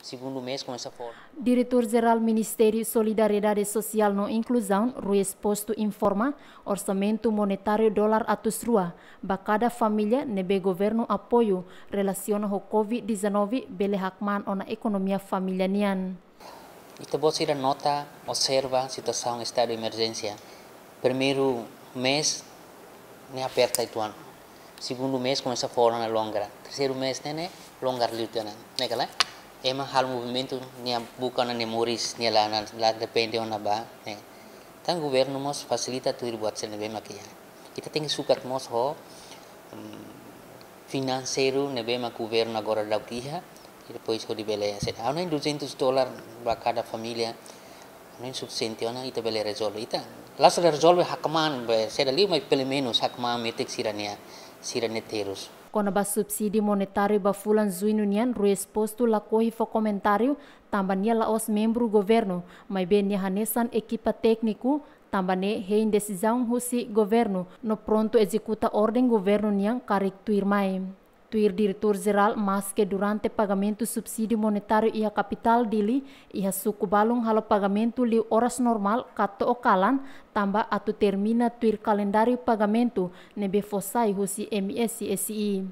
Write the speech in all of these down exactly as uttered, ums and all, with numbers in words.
Segundu mês komesa forma. Diretór Jerál Ministériu Solidariedade Sosiál no Inkluzaun, Rui Exposto, informa orsamentu monetáriu dolar atus rua ba kada família ne'ebé governu apoiu relasiona ho covid dezanove bele hakmaan ona ekonomia família nian. Ita-boot sira nota, observa situasaun estadu de emerjénsia. Primeiru mês ne'e aperta uitoan. Segundu mês komesa fó ona longgar. Terseiru mês ne'e, ne'e longgar liu tiha ona. Ne'e kala? Ema halo movimentu, nia buka ona nia moris, nia la, la depende ona ba, ne'e. Entaun governu mós fasilita tuir buat sira ne'ebé mak iha. Ita tenke sukat mós ho, mm, finanseiru ne'ebé mak governu agora daudaun iha, i depois hodi bele sede. Ha'u hanoin duzentus dolar ba kada família, ha'u hanoin sufisiente ona, ita bele rezolve. Ita la'ós rezolve hakmaan be saida liu, mas pelumenus hakmaan metin sira-nia, sira-nia terus. Kona-ba subsídiu monetáriu ba fulan Juñu nian, Rui Exposto lakohi fó komentáriu, tanba nia la'ós membru governu, maibé nia hanesan ekipa tékniku, tanba ne'e hein desizaun husi governu, no prontu ezekuta orden governu nian karik tuirmai. Tuir Diretór Jerál, maske durante pagamentu subsídiu monetáriu iha kapitál Dili, iha suku balun halo pagamentu liu oras normál ka to'o kalan, tanba atu termina tuir kalendáriu pagamentu ne'ebé fó sai husi M S S I.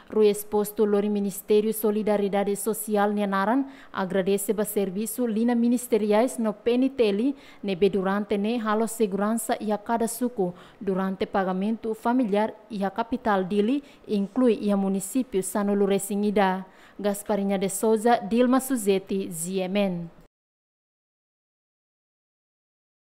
Rui Exposto lori Ministériu Solidariedade Sosiál nia naran, agradese ba servisu liña ministeriais no P N T L ne'ebé durante ne'e halo seguransa iha kada suku durante pagamentu familiár iha kapitál Dili, inklui iha munisípiu sanulu-resin-ida. Gasparinha de Souza, Dilma Suzeti, G M N.